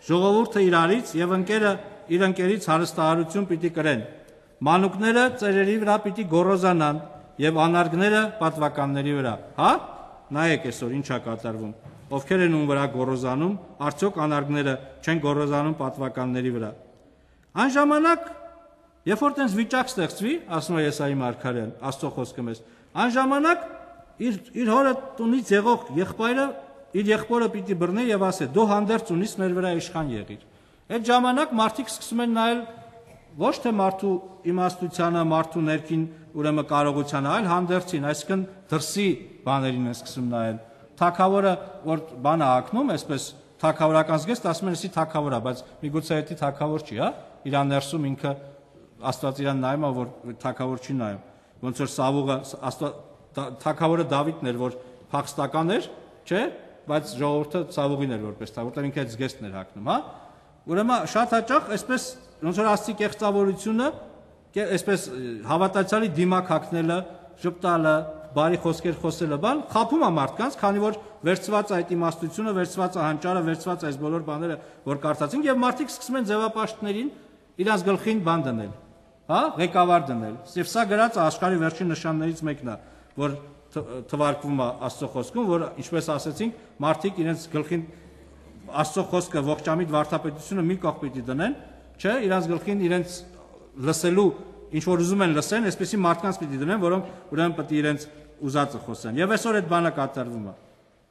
ժողովուրդը իրարից եւ ընկերը իր ընկերից հարստահարություն պիտի կրեն, մանուկները ծերերի վրա պիտի գոռոզանան եւ անարգները պատվականների վրա։ Հա, նայեք այսօր ինչա կատարվում, ովքեր են ում վրա գոռոզանում, արդյոք անարգները չեն գոռոզանում պատվականների վրա։ Այն ժամանակ, երբ որ տենց վիճակ ստեղծվի, ասում է Եսայի մարգարեն, Աստծո խոսքը մեզ, այն ժամանակ իր իր հորը տունից եղող եղբայրը իր եղբորը պիտի բռնի եւ ասե դու հանդերձ ունիս մեր վրա իշխան եղիր։ Այդ ժամանակ մարդիկ սկսում են նայել ոչ թե մարդու իմաստությանը, մարդու ներքին ուրեմն կարողությանը, այլ հանդերձին, այսինքն դրսի բաներին են սկսում նայել։ Թագավորը որ բանը ակնում, այսպես թագավորական զգեստ ասում են, էսի թագավոր է, բայց միգուցե դա թագավոր չի, հա։ Իրան ներսում ինքը Աստված իրան նայում է, որ թագավոր չի նայում։ Ոնց որ Սավուղը թագավորը Դավիթն էր, որ փախստական էր, չէ՞, բայց ժողովուրդը Սավուղին էր որպես թագավոր, որտեղ ինքը այդ զգեստն էր հագնում, հա։ Ուրեմն շատ հաճախ այսպես ոնց որ Աստծի կեղծավորությունը, այսպես հավատացյալի դիմակ հագնելը, ժպտալը, բարի խոսքեր խոսելը, բան խափում է մարդկանց, քանի որ վերցված է այդ իմաստությունը, վերցված է հանճարը, վերցված է այս բոլոր բաները, որ կարծացինք, եւ մարդիկ սկսում են ձևապաշտներին իրանց գլխին բան դնել, հա, ղեկավար դնել։ Եվ սա գրած է աշխարհի վերջին նշաններից մեկն է, որ թվարկվում է Աստծո խոսքում, որ ինչպես ասացինք, մարդիկ իրենց գլխին Աստծո խոսքը ողջամիտ վարդապետությունը մի կողմ պիտի դնեն, չէ, իրանց գլխին իրենց լսելու ինչ որ ուզում են լսեն, այսպեսի մարդկանց պիտի դնեն, որոնք ուրեմն պետք է իրենց ուզածը խոսեն։ Եվ այսօր այդ բանը կատարվում է։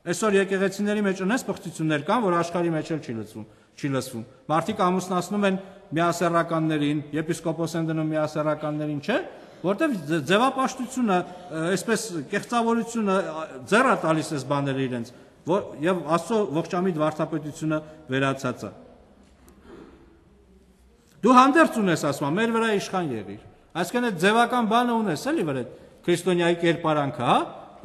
Այսօր եկեղեցիների մեջ ունես բխտություններ կան, որ աշխարհի մեջ էլ չի լսվում, չի լսվում։ Մարդիկ ամուսնացնում են միասեռականներին, եպիսկոպոս են դնում միասեռականներին, չէ՞, որտեղ ձևապաշտությունը, այսպես կեղծավորությունը ձեռ է տալիս այս բաները իրենց, եւ Աստծո ողջամիտ վարդապետությունը վերացած է։ Դու հանդերձ ունես, ասում, մեր վրա իշխան եղիր։ Այսինքն այդ ձևական բանը ունես, էլի վրա քրիստոնյայի կերպարանքը, հա,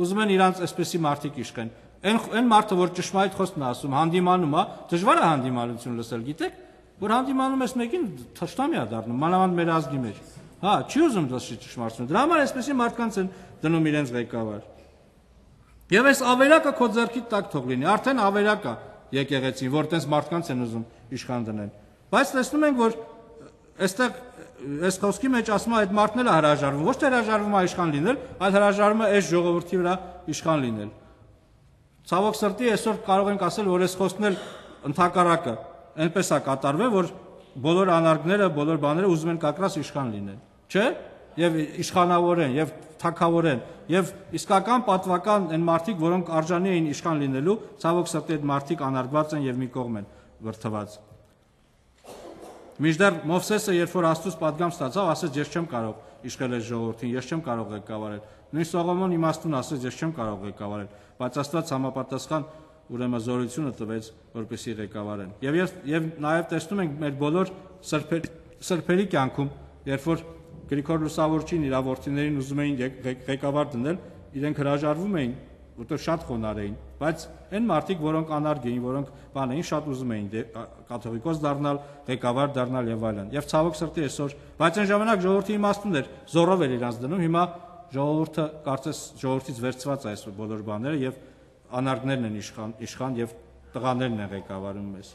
ուզում են իրանց այսպեսի մարդիկ իշխեն։ Այն այն մարդը, որ ճշմարիտ խոսքն է ասում, հանդիմանում է, դժվար է հանդիմանություն լսել, գիտեք, որ հանդիմանում ես մեկին թշնամի է դառնում, մանավանդ մեր ազգի մեջ։ Հա, չի ուզում լսի ճշմարտությունը։ Դրա համար այսպեսի մարդկանց են դնում իրենց ղեկավար։ Եվ այս ավերակը քո ձեռքիդ տակ թող լինի, արդեն ավերակ է եկեղեցին, որ տես մարդկանց են ուզում իշխան դնել։ Բայց տեսնում ենք, որ այստեղ այս խոսքի մեջ ասում է այդ մարդն էլ է հրաժարվում, ոչ թե հրաժարվում է իշխան լինել, այլ հրաժարվում է այս ժողովրդի վրա իշխան լինել։ Ցավոք սրտի այսօր կարող ենք ասել, որ այս խոսքն էլ ընդհակառակը այնպես է կատարվել, որ բոլոր անարգները, բոլոր բաները ուզում են կակրաս իշխան լինել, չէ՞։ Եվ իշխանավորեն, եւ թագավորեն, եւ իսկական պատվական այն մարդիկ, որոնք արժանի էին իշխան լինելու, ցավոք սրտի այդ մարդիկ անարգված են եւ մի կողմ են վրթված։ Մինչդեռ Մովսեսը, երբ որ Աստծուց պատգամ ստացավ, ասեց, ես չեմ կարող իշխել այս ժողովրդին, ես չեմ կարող ղեկավարել։ Նույն Սողոմոն իմաստուն ասեց, ես չեմ կարող ղեկավարել, բայց Աստված համապատասխան ուրեմն զորությունը տվեց, որպեսզի ղեկավարեն։ Եվ եւ նաեւ տեսնում ենք մեր բոլոր սրբերի կյանքում, երբ որ Գրիգոր Լուսավորչին իր որդիներին ուզում էին ղեկավար դնել, իրենք հրաժարվում էին, որտեղ շատ խոնար էին, բայց այն մարդիկ, որոնք անարգ էին, որոնք բան էին, շատ ուզում էին կաթողիկոս դառնալ, ղեկավար դառնալ եւ այլն։ Եվ ցավոք սրտի այսօր, բայց այն ժամանակ ժողովրդի իմաստուն էր, զորով էր իրանց դնում, հիմա ժողովուրդը կարծես ժողովրդից վերցված է այս բոլոր բաները եւ անարգներն են իշխան, իշխան եւ տղաներն են ղեկավարում մեզ։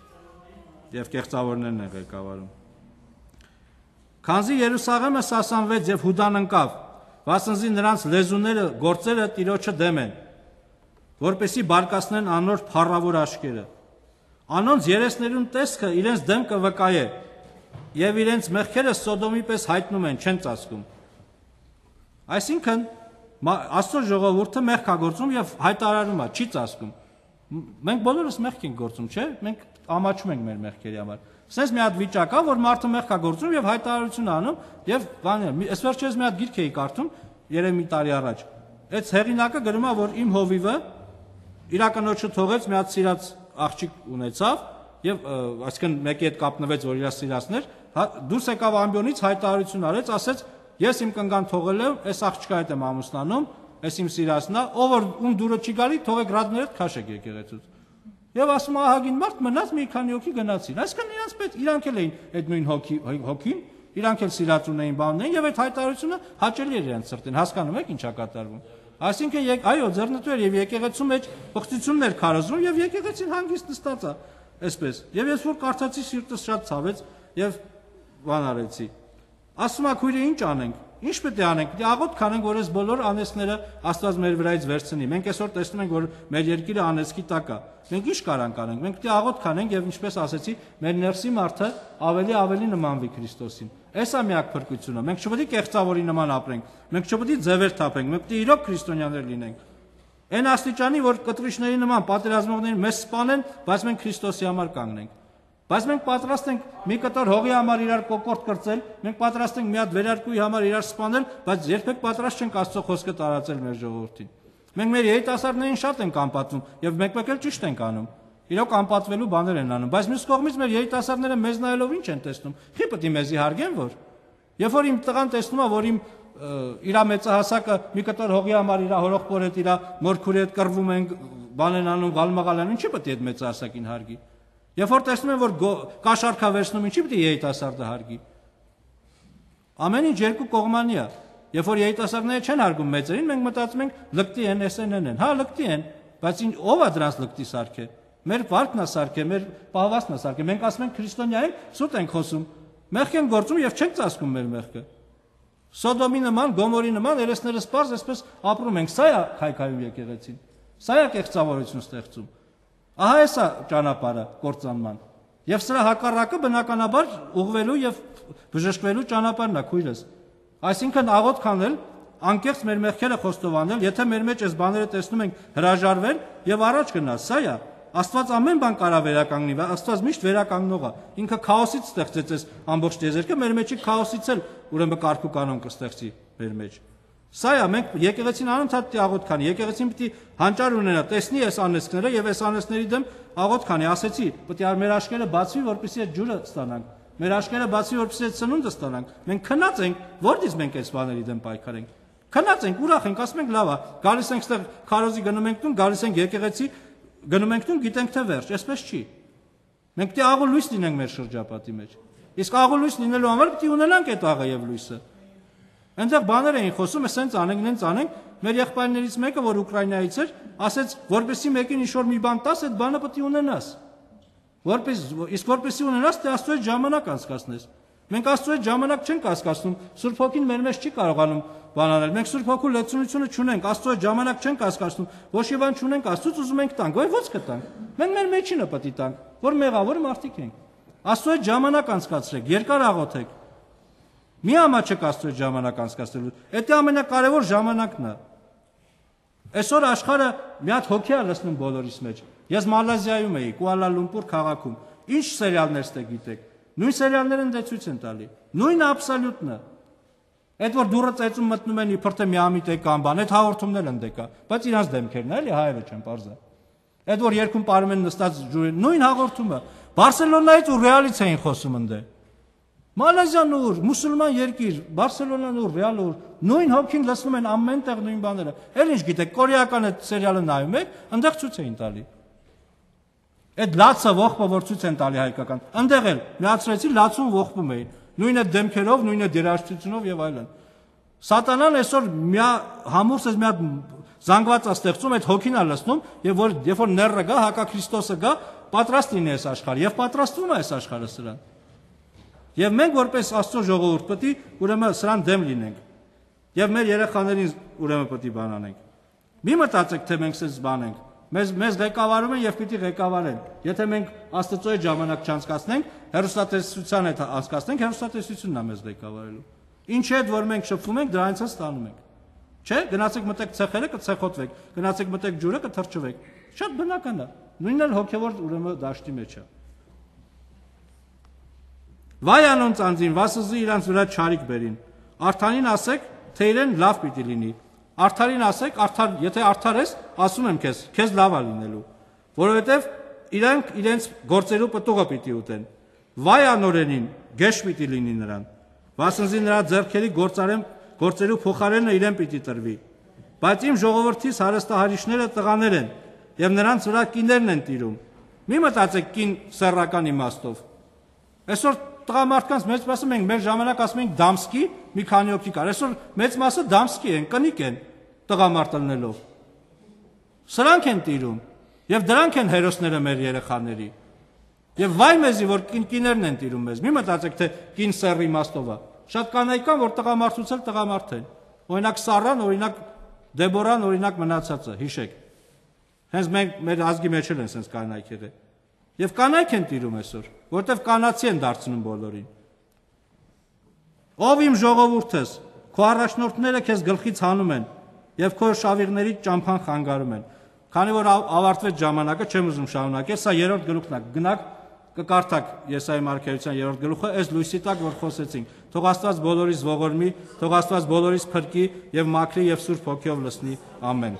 Եվ կեղծավորներն են ղեկավարում։ Քանզի Երուսաղեմը սասանվեց եւ Հուդան ընկավ, վասնզի նրանց լեզուները, գործերը Տիրոջը դեմ են, որպեսի բարկացնեն անոր փառավոր աշկերը։ Անոնց երեսներուն տեսքը իրենց դեմքը վկայե, եւ իրենց մեղքերը Սոդոմի պես հայտնում են, չեն ծածկում։ Այսինքն Աստծո ժողովուրդը մեղք է գործում եւ հայտարարում է, չի ծածկում։ Մենք բոլորս մեղք ենք գործում, չէ՞։ Մենք ամաչում ենք մեր մեղքերի համար։ Սենց մի հատ վիճակ է, որ մարդը մեղք է գործում եւ հայտարարություն անում եւ բան, այս վերջերս մի հատ գիրք էի կարդում, երեք մի տարի առաջ։ Այդ հեղինակը գրում է, որ իմ հովիվը իր կնոջը թողեց, մի հատ սիրած աղջիկ ունեցավ եւ այսինքն մեկի հետ կապնվեց, որ իր սիրածն էր, դուրս եկավ ամբիոնից, հայտարարություն արեց, ասեց, ես իմ կնգան թողել եմ, այս աղջկա հետ եմ ամուսնանում, այս իմ սիրածն է, ով որ ում դուրը չի գալի, թողեք ռադները քաշեք եկեղեցուց։ Եվ ասում ահագին մարդ մնաց մի քանի հոգի գնացին։ Այսինքն իրանց պետք իրանք էլ էին այդ նույն հոգի հոգին, իրանք էլ սիրած ունեին բանն էին եւ այդ հայտարարությունը հաճելի էր իրանց սրտին։ Հասկանում եք ինչա կատարվում։ Այսինքն այո, ձեռնտու էր եւ եկեղեցու մեջ բխտություններ քարոզում եւ եկեղեցին հանգիստ նստած է, այսպես։ Եվ ես որ կարդացի սիրտս շատ ցավեց եւ բան արեցի։ Ասում ա քույրը ինչ անենք։ Ինչ պետք է անենք։ Դե աղոտ կանենք, որ այս բոլոր անեծները Աստված մեր վրայից վերցնի։ Մենք այսօր տեսնում ենք, որ մեր երկիրը անեծքի տակ է։ Մենք ինչ կարանք անենք։ Մենք պետք է աղոտ կանենք եւ ինչպես ասեցի, մեր ներսի մարդը ավելի ավելի նմանվի Քրիստոսին։ Այս է միակ փրկությունը։ Մենք չպետք է կեղծավորի նման ապրենք։ Մենք չպետք է ձևեր թափենք։ Մենք պետք է իրոք քրիստոնյաներ լինենք։ Այն աստիճանի, որ կտրիչների նման պատերազմողներին մեզ սպանեն, բայց մենք Քրիստոսի համար կանգնենք։ Բայց մենք պատրաստ ենք մի կտոր հողի համար իրար կոկորտ կրծել, մենք պատրաստ ենք մի հատ վերարկուի համար իրար սպանել, բայց երբեք պատրաստ չենք Աստծո խոսքը տարածել մեր ժողովրդին։ Մենք մեր երիտասարդներին շատ ենք անպատվում եւ մեկ-մեկ էլ ճիշտ ենք անում։ Իրոք անպատվելու բաներ են անում, բայց մյուս կողմից մեր երիտասարդները մեզ նայելով ինչ են տեսնում։ Խի պետք է մեզի հարգեն, որ Երբ որ իմ տղան տեսնում է, որ իմ իր մեծահասակը մի կտոր հողի համար իր հորողբոր հետ, իր մորքուրի հետ կռվում են, բան են անում, գալմաղալ են, ինչի պետք է այդ մեծահասակին հարգի։ Երբ որ տեսնում են, որ կաշառքա վերցնում, ինչի պետք է երիտասարդը հարգի։ Ամեն ինչ երկու կողմանի է։ Երբ որ երիտասարդները չեն հարգում մեծերին, մենք մտածում ենք լկտի են, էս են են։ Հա, լկտի են, բայց ով է դրանց լկտի սարքե։ Մեր վարկն է սարքե, մեր պահվածքն է սարքե։ Մենք ասում ենք քրիստոնյա ենք, սուտ ենք խոսում, մեղք են գործում եւ չենք ծածկում մեր մեղքը։ Սոդոմի նման, Գոմորի նման երեսները սպարզ այսպես ապրում ենք։ Սա է քայքայում եկեղեցին։ Սա է կեղծավորություն ստեղծում։ Ահա էսա ճանապարհը կործանման։ Եվ սրա հակառակը բնականաբար ուղղվելու եւ բժշկվելու ճանապարհն է, քույրս։ Այսինքն աղոթք անել, անկեղծ մեր մեղքերը խոստովանել, եթե մեր մեջ այս բաները տեսնում ենք հրաժարվել եւ առաջ գնալ, սա է։ Աստված ամեն բան կարա վերականգնի, Աստված միշտ վերականգնող է։ Ինքը քաոսից ստեղծեց այս ամբողջ տիեզերքը, մեր մեջի քաոսից էլ ուրեմն կարգ ու կանոն կստեղծի մեր մեջ։ Սա է, մենք եկեղեցին անընդհատ պիտի աղոթք անի, եկեղեցին պիտի հանճար ունենա, տեսնի այս անեծքները եւ այս անեծների դեմ աղոթք անի, ասեցի, պիտի մեր աշկերը բացվի, որպեսզի այդ ջուրը ստանանք։ Մեր աշկերը բացվի, որպեսզի այդ սնունդը ստանանք։ Մենք քնած ենք, որտից մենք այս բաների դեմ պայքարենք։ Քնած ենք, ուրախ ենք, ասում ենք լավ է, գալիս ենք ստեղ քարոզի գնում ենք տուն, գալիս ենք եկեղեցի, գնում ենք տուն, գիտենք թե վերջ, այսպես չի։ Մենք պիտի աղու լույս լինենք մեր շրջապատի մեջ։ Իսկ աղու լույս լինելու համար պիտի ունենանք այդ աղը եւ լույսը։ Այնտեղ բաներ էին խոսում, ասենց անենք, նենց անենք, մեր եղբայրներից մեկը, որ Ուկրաինայից էր, ասեց, որպեսզի մեկին ինչ-որ մի բան տաս, այդ բանը պետք է ունենաս։ Որպես իսկ որպեսզի ունենաս, դե Աստծո հետ ժամանակ անցկացնես։ Մենք Աստծո հետ ժամանակ չենք անցկացնում, Սուրբ Հոգին մեր մեջ չի կարողանում բան անել։ Մենք Սուրբ Հոգու լեցունությունը չունենք, Աստծո հետ ժամանակ չենք անցկացնում, ոչ մի բան չունենք, Աստծուց ուզում ենք տանք, ոյ ո՞ց կտանք։ Մենք մեր մեջինը պետք է տանք, որ մեղավոր մարդիկ ենք։ Աստծո հետ ժամանակ անցկացրեք, երկար աղոթեք։ Մի ամաչեք Աստծո հետ ժամանակ անցկացնելու։ Դա ամենակարևոր ժամանակն է։ Այսօր աշխարհը մի հատ հոգի է լցնում բոլորիս մեջ։ Ես Մալազիայում էի, Կուալա Լումպուր քաղաքում։ Ինչ սերիալներ ստե գիտեք։ Նույն սերիալները ընդ ցույց են տալի։ Նույնը աբսոլյուտն է։ Այդ որ դուրը ծեծում մտնում են իբր թե միամիտ է կամ բան, այդ հաղորդումներն են դեկա, բայց իրանց դեմքերն է, էլի հայերը չեն parza։ Այդ որ երկում parում են նստած ջուրին, նույն հաղորդումը։ Բարսելոնայից ու Ռեալից էին խոսում ընդ։ Մալազիան ուր, մուսուլման երկիր, Բարսելոնան ուր, Ռեալը ուր, նույն հոգին լսում են ամենտեղ նույն բաները։ Էլ ինչ գիտեք, կորեական այդ սերիալը նայում եք, այնտեղ ցույց էին տալի։ Այդ լացը ողբը որ ցույց են տալի հայկական, այնտեղ էլ միացրեցի լացուն ողբում էին, նույնը դեմքերով, նույնը դերաշտությունով եւ այլն։ Սատանան այսօր մի համուրս մի հատ զանգված է ստեղծում, այդ հոգին է լցնում, եւ որ երբ որ նեռը գա, հակա Քրիստոսը գա, պատրաստ լինի այս աշխարհը եւ պատրաստվում է այս աշխարհը սրան։ Եվ մենք որպես Աստծո ժողովուրդ պետք է ուրեմն սրան դեմ լինենք։ Եվ մեր երեխաներին ուրեմն պետք է բան անենք։ Մի մտածեք, թե մենք սենց բան ենք։ Մեզ մեզ ղեկավարում են եւ պիտի ղեկավարեն։ Եթե մենք Աստծո հետ ժամանակ չանցկացնենք, հերոստատեսության հետ անցկացնենք, հերոստատեսությունն է մեզ ղեկավարելու։ Ինչ է, որ մենք շփվում ենք, դրանից է ստանում ենք։ Չէ, գնացեք մտեք ցեխերը, կցեխոտվեք, գնացեք մտեք ջուրը, կթրջվեք։ Շատ բնական է։ Նույնն էլ հոգեվոր ուրեմն դաշտի մեջ է։ Վայ անոն ծանձին, վասզի իրանց վրա չարիք բերին։ Արթանին ասեք, թե իրեն լավ պիտի լինի։ Արթարին ասեք, արդար, եթե արդար ես, ասում եմ քեզ, քեզ լավ է լինելու, որովհետև իրանք իրենց գործերու պտուղը պիտի ուտեն։ Վայ անորենին, գեշ պիտի լինի նրան։ Վասզի նրա ձեռքերի գործարեմ գործերու փոխարենը իրեն պիտի տրվի։ Բայց իմ ժողովրդից հարստահարիչները տղաներ են, եւ նրանց վրա կիներն են տիրում։ Մի մտածեք կին սեռական իմաստով։ Այսօր տղամարդկանց մեծ մասը մենք մեր ժամանակ ասում ենք դամսկի, մի քանի հոգի կար։ Այսօր մեծ մասը դամսկի են, կնիկ են տղամարդ ելնելով։ Սրանք են տիրում եւ դրանք են հերոսները մեր երեխաների։ Եվ վայ մեզի, որ կինկիներն են տիրում մեզ։ Մի մտածեք, թե կին սեռ իմաստով է։ Շատ կանայք կան, որ տղամարդուց էլ տղամարդ են։ Օրինակ Սառան, օրինակ Դեբորան, օրինակ մնացածը, հիշեք։ Հենց մենք մեր ազգի մեջ էլ են sense կանայք եղել։ Եվ կանայք են տիրում այսօր, որտեվ կանացի են դարձնում բոլորին։ Ով իմ ժողովուրդս, քո առաջնորդները քեզ գլխից հանում են եւ քո շավիղների ճամփան խանգարում են։ Քանի որ ավարտվեց ժամանակը, չեմ ուզում շարունակել, սա երրորդ գլուխն է։ Գնաք կկարդաք Եսայի մարգարեության երրորդ գլուխը, այս լույսի տակ որ խոսեցինք։ Թող Աստված բոլորիս ողորմի, թող Աստված բոլորիս փրկի եւ մաքրի եւ Սուրբ Հոգեով լցնի։ Ամեն։